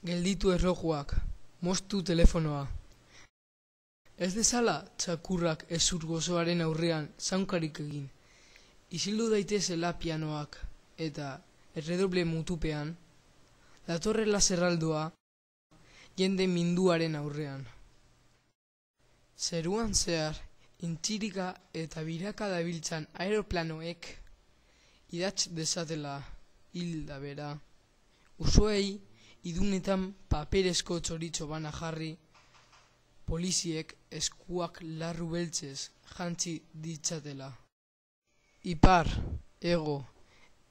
Gelditu erlojuak, moztu telefonoa. Ez dezala txakurrak ezur gozoaren aurrean zaunkarik egin. Isildu daitezela pianoak eta erredoble mutupean, datorrela zerraldoa jende minduaren aurrean. Zeruan zehar, intxirika eta biraka dabiltzan aeroplanoek idatz dezatela hilda bera, usoei idunetan paperezko txoritxo bana jarri, poliziek eskuak larru beltzez jantzi ditzatela. Ipar, ego,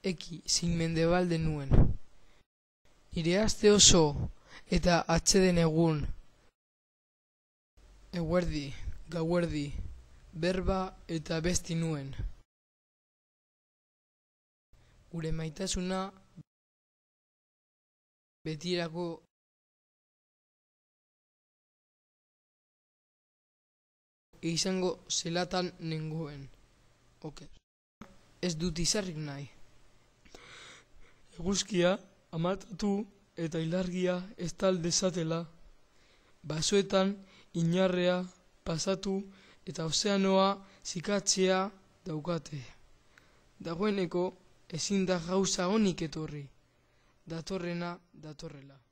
eki zein mendebalde nuen. Nire aste oso eta atseden egun, eguerdi, gauerdi, berba eta besti nuen. Gure maitasuna betirako izango zelatan nengoen. Oker. Ez dut izarrik nahi. Eguzkia amatatu eta ilargia estal dezatela, basoetan inarrea pasatu eta ozeanoa zikatzea daukate. Dagoeneko ezin da gauza onik etorri, datorrena datorrela.